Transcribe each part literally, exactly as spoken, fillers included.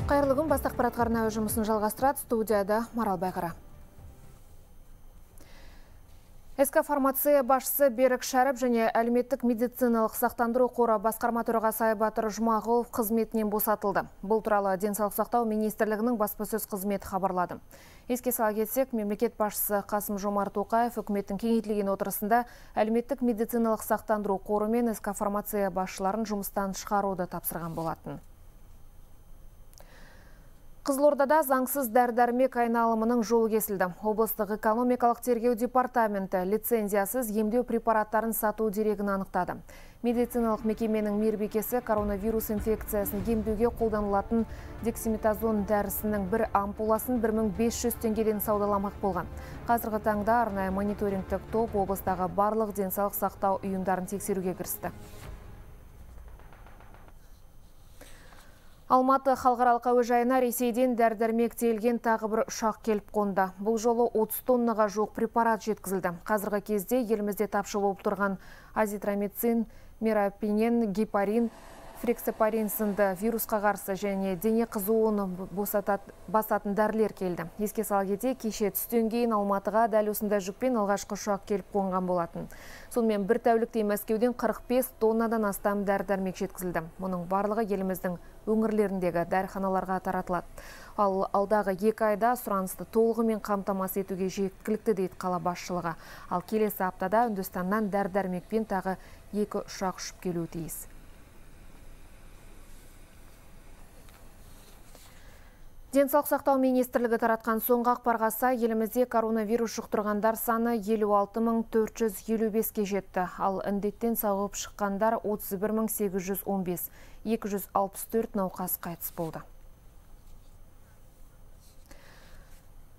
Қайырлы күн, бас ақпарат арнайы жұмысын жалғастырады. Студияда Марал Байғара. СК Фармация басшысы Берік Шәріп және әлеуметтік медициналық сақтандыру қоры басқарма төрағасы Айбатыр Жұмағұлов қызметінен босатылды. Бұл туралы денсаулық сақтау министрлігінің баспасөз қызметі хабарлады. Еске сала кетсек, мемлекет басшысы Қасым-Жомарт Тоқаев үкіметтің кеңейтілген отырысында әлеуметтік медициналық сақтандыру қоры мен СК Фармация басшыларын жұмыстан шығаруды тапсырған болатын. Қызылордада заңсыз дәрі-дәрмек айналымының жолы кесілді. Облыстық экономикалық тергеу департаменті лицензиясыз емдеу препараттарын сату дерегін анықтады. Медициналық мекеменің мейірбикесі коронавирус инфекциясын емдеуге қолданылатын дексаметазон дәрісінің бір ампуласын бір мың бес жүз теңгеден саудаламақ болған. Қазіргі таңда арнайы мониторингтік топ облыстағы барлық денсаулық сақтау ұйымдарын тексеруге кірісті. Алматы халықаралық әуежайына Ресейден дәрі-дәрмек тиелген тағы бір ұшақ келіп қонды. Бұл жолы отыз тоннаға жуық препарат жеткізілді. Қазіргі кезде елімізде тапшы болып тұрған азитромицин, мирапинен, гепарин, фрексепарин сынды вирусқа қарсы және дене қызуын басатын дәрілер келді. Еске сала кетейік, кеше түстен кейін Алматыға дәл осындай жүкпен алғашқы ұшақ келіп қонған болатын. Сонымен бір тәулікте Мәскеуден қырық бес тоннадан астам дәрі-дәрмек жеткізілді. Мұның барлығы еліміздің өңірлеріндегі дәріханаларға таратылады. Ал алдағы екі айда сұранысты толығымен қамтамасыз етуге жеткілікті дейді қала басшылығы. Ал келесі аптада Үндістаннан дәрі-дәрмекпен тағы екі ұшақ ұшып келуі тиіс. Денсаулық сақтау министрлігі таратқан соңғы ақпарға сай, елімізде коронавирус жұқтырғандар саны елу алты мың төрт жүз елу беске жетті. Ал індеттен сауығып шыққандар отыз бір мың сегіз жүз он бес, екі жүз алпыс төрт науқас қайтыс болды.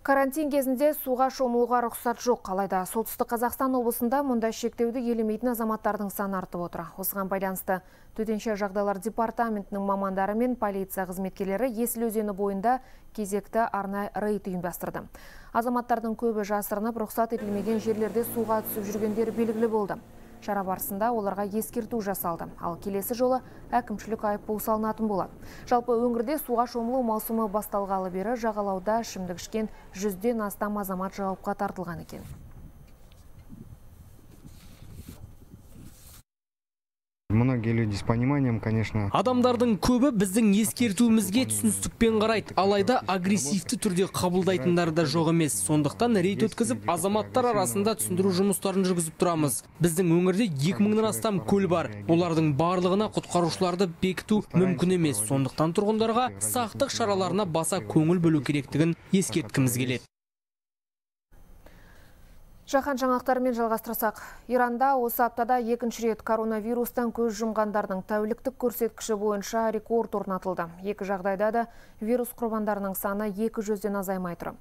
Карантин кезінде суға шомылуға рұқсат жоқ. Алайда солтүстік Қазақстан облысында мұндай шектеуді елемейтін азаматтардың саны артып отыр. Осыған байланысты төтенше жағдайлар департаментінің мамандары мен полиция қызметкерлері Есіл өзені бойында кезекті арнайы рейд ұйымдастырды. Азаматтардың көбі жасырынып, рұқсат етілмеген жерлерде суға түсіп жүргендер белгілі болды. Шара барысында оларға ескерту жасалды. Ал келесі жолы әкімшілік айыппұл салынатын болады. Жалпы өңірде суға шомылу маусымы басталғалы бері жағалауда ішімдік ішкен жүзден астам азамат жауапқа тартылған екен. Многие люди с пониманием, конечно. Адамдардың көбі біздің ескертуімізге түсіністікпен қарайды. Алайда агрессивті түрде қабылдайтындар да жоқ емес. Сондықтан рейд өткізіп, азаматтар арасында түсіндіру жұмыстарын жүргізіп тұрамыз. Біздің өңірде екі мыңнан астам көл бар. Олардың барлығына құтқарушыларды бекіту мүмкін емес. Сондықтан тұрғындарға сақтық шараларына баса көңіл бөлу керектігін ескерткіміз келеді. Жаһан жаңалықтарымен жалғастырсақ, Иранда осы аптада екінші рет коронавирустан көз жұмғандардың тәуліктік көрсеткіші бойынша рекорд орнатылды. Екі жағдайда да вирус құрбандарының саны екі жүзден азаймай тұр.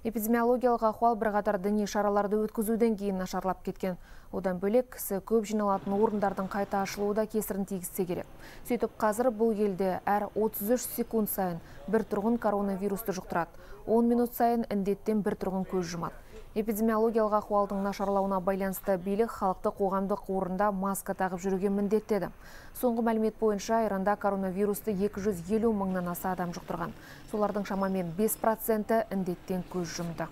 Эпидемиологиялық ахуал бірқатар діни шараларды өткізуден кейін нашарлап кеткен. Одан бөлек кісі көп жиналатын орындардың қайта ашылуы да кесірін тигізсе керек. Сөйтіп қазір бұл елде әр отыз үш секунд сайын бір тұрғын коронавирусты жұқтырады. он минут сайын індеттен бір тұрғын көз жұмады. Эпидемиологиялық ахуалдың нашарлауына байланысты билік халықты қоғамдық орында маска тағып жүруге міндеттеді. Соңғы мәлімет бойынша Иранда коронавирусты екі жүз елу мыңнан аса адам жұқтырған. Солардың шамамен бес проценті індеттен көз жұмды.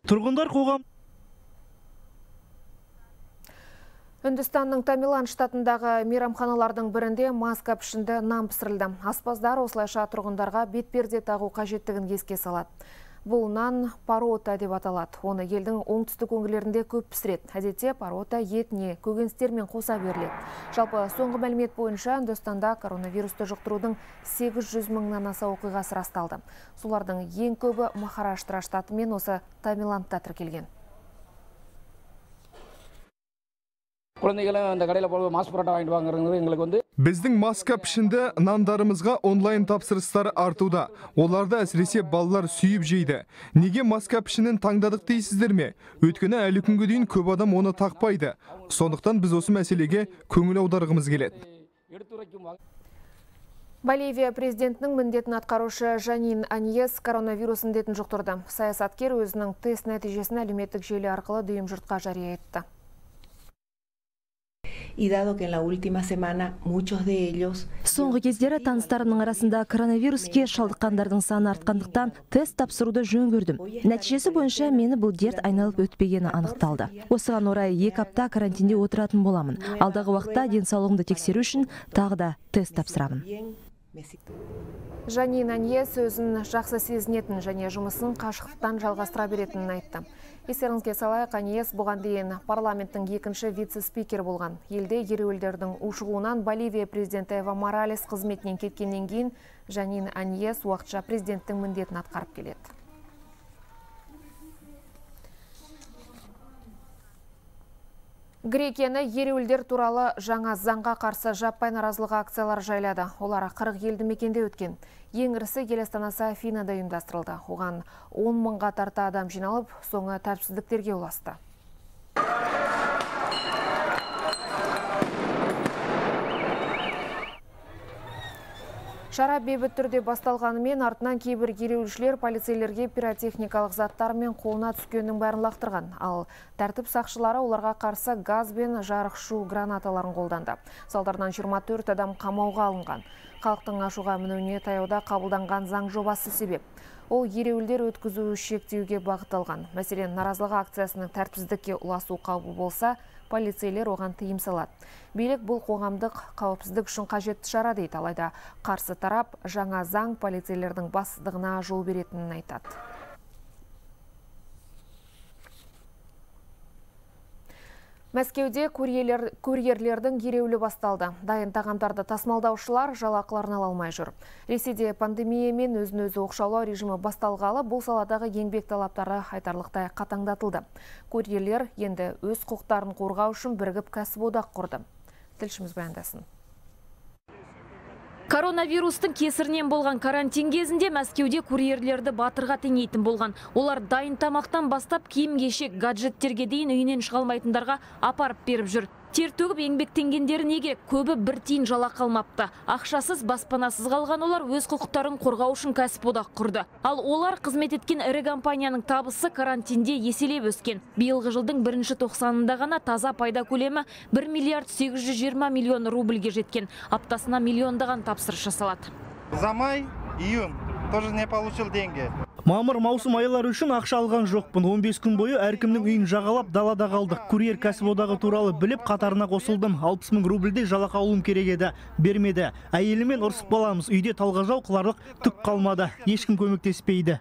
Тұрғындар қоғам Үндістанның Тамилан штатындағы мейрамханалардың бірінде маска пішінді нан пісірілді. Аспаздар осылайша тұрғындарға бетперде тағу қажеттігін еске салады. Бұл нан парота деп аталады. Оны елдің оңтүстік өңірлерінде көп пісіреді. Әдетте парота етіне көкөністермен қоса беріледі. Жалпы соңғы мәлімет бойынша Үндістанда коронавирусты жұқтырудың сегіз жүз мыңнан аса оқиғасы расталды. Солардың ең көбі Махараштра штаты мен осы Тамиландта тіркелген. Біздің маска пішінді нандарымызға онлайн тапсырыстар артуда. Оларды әсіресе балалар сүйіп жейді. Неге маска пішінін таңдадық дейсіздер ме? Өйткені әлі күнге дейін көп адам оны тақпайды. Сондықтан біз осы мәселеге көңіл аударғымыз келеді. Боливия президентінің міндетін атқарушы Жанин Аньес коронавирус індетін жұқтырды. Саясаткер өзінің тест нәтижесін әлеуметтік желі арқылы дүйім жұртқа жария етті. y dado que en la última semana muchos de ellos... Соңғы кездері таныстарымның арасында коронавируске шалдыққандардың саны артқандықтан тест тапсыруды жөн көрдім. Нәтижесі бойынша мені бұл дерт айналып өтпегені анықталды. Осыған орай екі апта карантинде отыратын боламын. Алдағы уақытта денсаулығымды тексеру үшін тағы да тест тапсырамын. Жанин Аньес өзін жақсы сезінетін және жұмысын қашықтан жалғастыра беретінін айтты. Естеріңізге салайық, Аньес бұған дейін парламенттің екінші вице-спикер болған. Елде ереуілдердің ушығуынан Боливия президенті Эва Моралес қызметінен кеткеннен кейін Жанин Аньес уақытша президенттің міндетін атқарып келеді. Грекияны ереуілдер туралы жаңа заңға қарсы жаппай наразылық акциялар жайлады. Олар қырық елді мекенде өткен. Ең ірісі ел астанасы Афинада ұйымдастырылды. Оған он мыңға тарта адам жиналып, соңы тәртіпсіздіктерге ұласты. Шара бейбіт түрде басталғанымен артынан кейбір ереуілшілер полицейлерге пиротехникалық заттар мен қолына түскеннің бәрін лақтырған. Ал тәртіп сақшылары оларға қарсы газ бен жарық шу гранаталарын қолданды. Салдарынан жиырма төрт адам қамауға алынған. Халықтың ашуға мінуіне таяуда қабылданған заң жобасы себеп. Ол ереуілдер өткізу шектеуге бағытталған. Мәселен, наразылық акциясының тәртіпсіздікке ұласу қаупі болса, полицейлер оған тыйым салады. Билік бұл қоғамдық қауіпсіздік үшін қажетті шара дейді, алайда қарсы тарап жаңа заң полицейлердің бассыздығына жол беретінін айтады. Мәскеуде курьерлердің ереуілі басталды. Дайын тағамдарды тасымалдаушылар жалақыларын ала алмай жүр. Ресейде пандемия мен өзін-өзі оқшаулау режимі басталғалы бұл саладағы еңбек талаптары айтарлықтай қатаңдатылды. Курьерлер енді өз құқықтарын қорғау үшін бірігіп кәсіподақ құрды. Тілшіміз баяндасын. Коронавирустың кесірінен болған карантин кезінде Мәскеуде курьерлерді батырға теңейтін болған. Олар дайын тамақтан бастап киім-кешек, гаджеттерге дейін үйінен шыға алмайтындарға апарып беріп жүр. Тер төгіп еңбектенгендері не керек? Көбі бір тиын жалақы алмапты. Ақшасыз, баспанасыз қалған олар өз құқықтарын қорғау үшін кәсіподақ құрды. Ал олар қызмет еткен ірі компанияның табысы карантинде еселеп өскен. Биылғы жылдың бірінші тоқсанында ғана таза пайда көлемі бір миллиард сегіз жүз жиырма миллион рубльге жеткен. Аптасына миллиондаған тапсырыс жасалады. За май, июнь тоже не получил деньги. Мамыр маусым айлары үшін ақша алған жоқпын. он бес күн бойы әркімнің үйін жағалап далада қалдық. Курьер кәсіподағы туралы біліп қатарына қосылдым. алпыс мың рубльдей жалақы алуым керек еді. Бермеді. Әйелімен ұрсып баламыз. Үйде талғажау қыларлық түк қалмады. Ешкім көмектеспейді.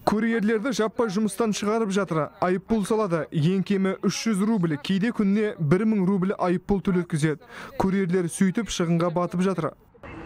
Курьерлерді жаппай жұмыстан шығарып жатыр. Айыппұл салады. Ең кемі үш жүз рубль, кейде күніне бір мың рубль айыппұл төлеткізеді. Курьерлер сөйтіп шығынға батып жатыр.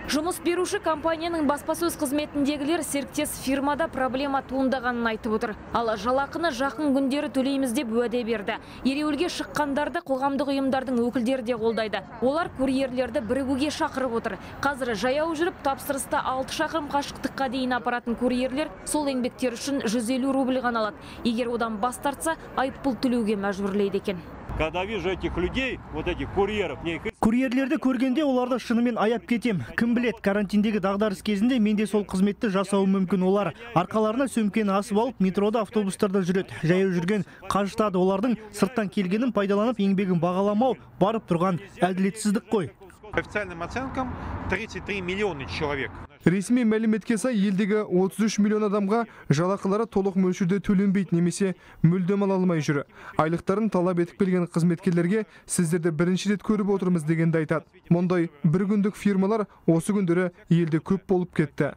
Жұмыс беруші компанияның баспасөз қызметіндегілер серіктес фирмада проблема туындағанын айтып отыр. Ал жалақыны жақын күндері төлейміз деп уәде берді. Ереуілге шыққандарды қоғамдық ұйымдардың өкілдері де қолдайды. Олар курьерлерді бірігуге шақырып отыр. Қазір жаяу жүріп тапсырыста алты шақырым қашықтыққа дейін апаратын курьерлер сол еңбектер үшін жүз елу рубль ғана алады. Егер одан бас тартса, айыппұл төлеуге мәжбүрлейді екен. Когда вижу этих людей, вот этих курьеров, мне их... Курьерлерді көргенде оларды шынымен аяп кетем. Кім білет, карантиндегі дағдарыс кезінде менде сол қызметті жасауы мүмкін. Олар арқаларына сөмкені асып алып, метрода, автобустарда жүреді. Жаяу жүрген қажытады. Олардың сырттан келгенін пайдаланып, еңбегін бағаламау барып тұрған әділетсіздік қой. По официальным оценкам тридцать три миллиона человек. Ресми мәліметке сай елдегі отыз үш миллион адамға жалақылары толық мөлшерде төленбейді немесе мүлдем ала алмай жүр. Айлықтарын талап етіп келген қызметкерлерге сіздерді бірінші рет көріп отырмыз дегенді айтады. Мұндай бір күндік фирмалар осы күндері елде көп болып кетті.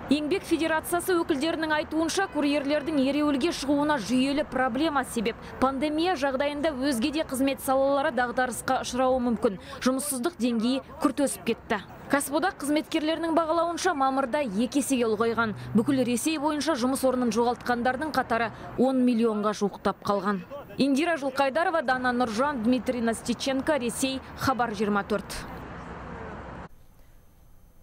Еңбек федерациясы өкілдерінің айтуынша курьерлердің ереуілге шығуына жүйелі проблема себеп. Пандемия жағдайында өзге де қызмет салалары дағдарысқа ұшырауы мүмкін. Жұмыссыздық деңгейі күрт өсіп кетті. Кәсіподақ қызметкерлерінің бағалауынша мамырда екі есеге ұлғайған. Бүкіл Ресей бойынша жұмыс орнын жоғалтқандардың қатары он миллионға жуықтап қалған. Индира Жылқайдарова, Дана Нұржан, Дмитрий Настиченко, Ресей, Хабар жиырма төрт.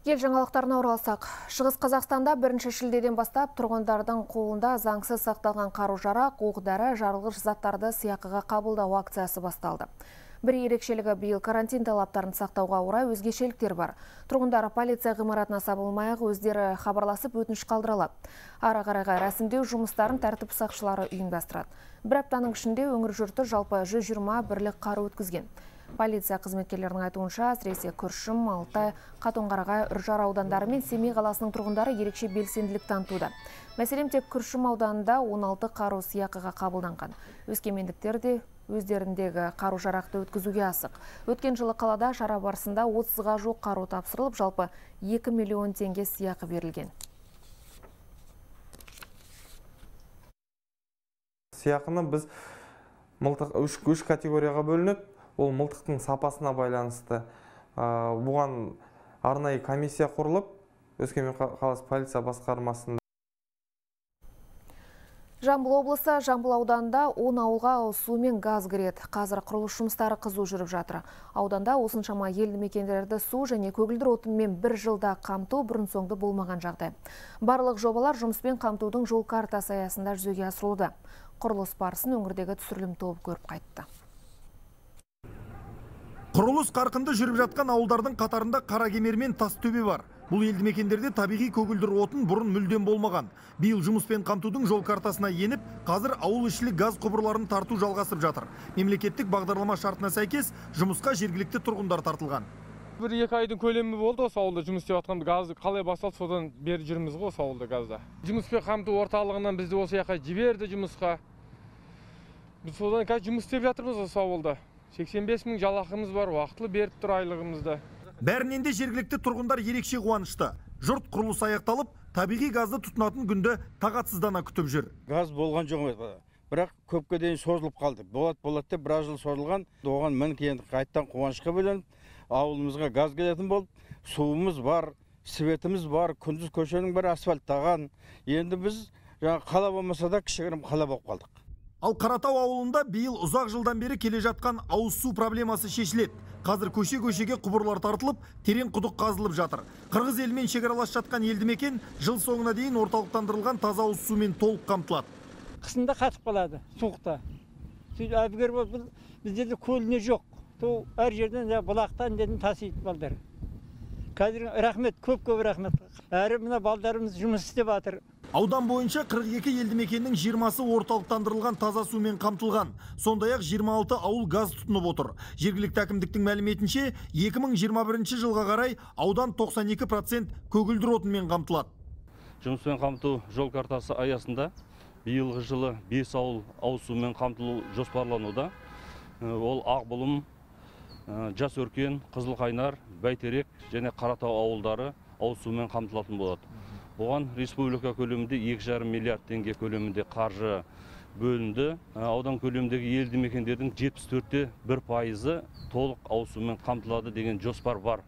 Ел жаңалықтарына оралсақ, Шығыс Қазақстанда бірінші шілдеден бастап тұрғындардың қолында заңсыз сақталған қару-жарақ, оқ-дәрі, жарылғыш заттарды сыйақыға қабылдау акциясы басталды. Бір ерекшелігі биыл карантин талаптарын сақтауға орай өзгешеліктер бар. Тұрғындар полиция ғимаратына сабылмай-ақ өздері хабарласып өтініш қалдыра алады. Ары қарайға рәсімдеу жұмыстарын тәртіп сақшылары ұйымдастырады. Бір аптаның ішінде өңір жұрты жалпы жүз жиырма бірлік қару өткізген. Полиция қызметкерлерінің айтуынша, әсіресе Күршім, Алтай, Қатонқарағай, Үржар аудандары мен Семей қаласының тұрғындары ерекше белсенділік танытуда. Мәселен, тек Күршім ауданында он алты қару сыйақыға қабылданған. Өскемендіктер де өздеріндегі қару жарақты өткізуге асық. Өткен жылы қалада шара барысында отызға жуық қару тапсырылып, жалпы екі миллион теңге сыйақы берілген. Сыйақыны біз мылтық үш категорияға бөлінеді. Ол мылтықтың сапасына байланысты. Бұған арнайы комиссия құрылып, Өскемен қаласы полиция басқармасында. Жамбыл облысы Жамбыл ауданында он ауылға ауыз су мен газ кіреді. Қазір құрылыс жұмыстары қызу жүріп жатыр. Ауданда осыншама елді мекендерді су және көгілдір отынмен бір жылда қамту бұрын соңды болмаған жағдай. Барлық жобалар жұмыспен қамтудың жол картасы аясында жүзеге асырылуда. Құрылыс барысын өңірдегі түсірілім тобы көріп қайтты. Құрылыс қарқынды жүріп жатқан ауылдардың қатарында Қаракемер мен Тастөбе бар. Бұл елді мекендерде табиғи көгілдір отын бұрын мүлдем болмаған. Биыл жұмыспен қамтудың жол картасына еніп, қазір ауыл ішілік газ құбырларын тарту жалғасып жатыр. Мемлекеттік бағдарлама шартына сәйкес жұмысқа жергілікті тұрғындар тартылған. Бір екі айдың көлемі болды осы ауылда жұмыс істеп жатқан. Газды қалай басталды, содан бері жүрміз ғой осы ауылда газда. Жұмыспен қамту орталығынан бізді осы жаққа жіберді жұмысқа. Біз содан қазір жұмыс істеп жатырмыз осы ауылда. сексен бес мың жалақымыз бар, уақытылы беріп тұр айлығымызды. Бәрінен де жергілікті тұрғындар ерекше қуанышты. Жұрт құрылыс аяқталып, табиғи газды тұтынатын күнді тағатсыздана күтіп жүр. Газ болған жоқ, бірақ көпке дейін созылып қалды. Болады болады деп біраз жыл созылған. Оған мінекей енді қайттан қуанышқа бөленіп, ауылымызға газ келетін болып, суымыз бар, светіміз бар, күндіз көшенің бәрі асфальттаған. Енді біз қала болмаса да кішігірім қала болып қалдық. Ал Қаратау ауылында биыл ұзақ жылдан бері келе жатқан ауыз су проблемасы шешіледі. Қазір көше-көшеге құбырлар тартылып, терең құдық қазылып жатыр. Қырғыз елмен шекаралас жатқан елді мекен жыл соңына дейін орталықтандырылған таза ауыз сумен толық қамтылады. Қысында қатып қалады, суықта. Әбігер бұл біздерде көліне жоқ. Сол әр жерден бұлақтан дедім тасиды балдар. Қазір рахмет, көп-көп рахмет. Әрі мына балдарымыз жұмыс істеп жатыр. Аудан бойынша қырық екі елді мекеннің жиырмасы орталықтандырылған таза сумен қамтылған. Сондай-ақ жиырма алты ауыл газ тұтынып отыр. Жергілікті әкімдіктің мәліметінше, екі мың жиырма бірінші жылға қарай аудан тоқсан екі процент көгілдір отынмен қамтылады. Жұмыспен қамту жол картасы аясында биылғы жылы бес ауыл ауыз сумен қамтылу жоспарлануда. Ол Ақбұлым, Жасөркен, Қызылқайнар, Бәйтерек және Қаратау ауылдары ауыз сумен қамтылатын болады. Бұған республика көлемінде екі жарым миллиард теңге көлемінде қаржы бөлінді. Аудан көлеміндегі елді мекендердің жетпіс төртте бір пайызы толық ауыз сумен қамтылады деген жоспар бар.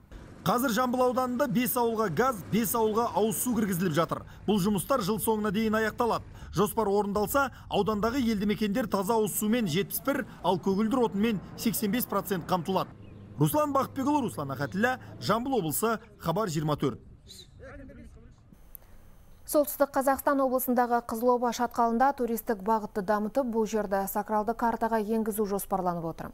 Қазір Жамбыл ауданында бес ауылға газ, бес ауылға ауыз су кіргізіліп жатыр. Бұл жұмыстар жыл соңына дейін аяқталады. Жоспар орындалса, аудандағы елді мекендер таза ауыз сумен жетпіс бір, ал көгілдір отынмен сексен бес процент қамтылады. Руслан Бақытбекұлы, Руслан Ахатілла, Жамбыл облысы, Хабар жиырма төрт. Солтүстік Қазақстан облысындағы Қызылоба шатқалында туристік бағытты дамытып, бұл жерді сакралды картаға енгізу жоспарланып отыр.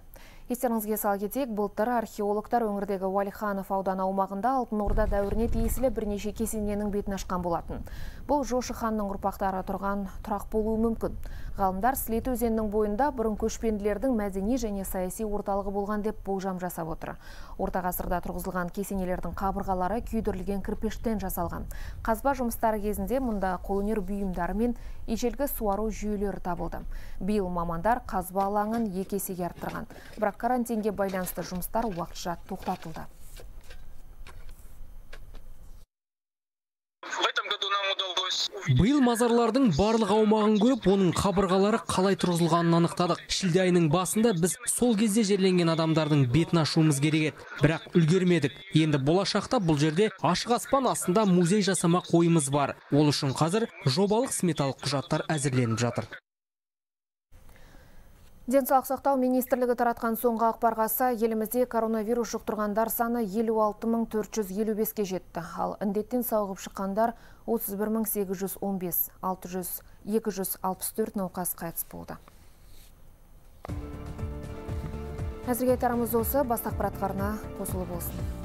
Естеріңізге сала кетейік, былтыр археологтар өңірдегі Уәлиханов ауданы аумағында Алтын Орда дәуіріне тиесілі бірнеше кесененің бетін ашқан болатын. Бұл Жошы ханның ұрпақтары тұрған тұрақ болуы мүмкін. Ғалымдар Сілеті өзенінің бойында бұрын көшпенділердің мәдени және саяси орталығы болған деп болжам жасап отыр. Орта ғасырда тұрғызылған кесенелердің қабырғалары күйдірілген кірпіштен жасалған. Қазба жұмыстары кезінде мұнда қолөнер бұйымдары мен ежелгі суару жүйелері табылды. Биыл мамандар қазба алаңын екі есеге арттырған. Бірақ карантинге байланысты жұмыстар уақытша тоқтатылды. Биыл мазарлардың барлық аумағын көріп, оның қабырғалары қалай тұрғызылғанын анықтадық. Шілде айының басында біз сол кезде жерленген адамдардың бетін ашуымыз керек еді. Бірақ үлгермедік. Енді болашақта бұл жерде ашық аспан астында музей жасамақ ойымыз бар. Ол үшін қазір жобалық сметалық құжаттар әзірленіп жатыр. Денсаулық сақтау министрлігі таратқан соңғы ақпарға сай, елімізде коронавирус жұқтырғандар саны елу алты мың төрт жүз елу беске жетті. Ал індеттен сауығып шыққандар отыз бір мың сегіз жүз он бес, екі жүз алпыс төрт науқас қайтыс болды. Әзірге айтарымыз осы, бас ақпаратқа арна қосылып болсын.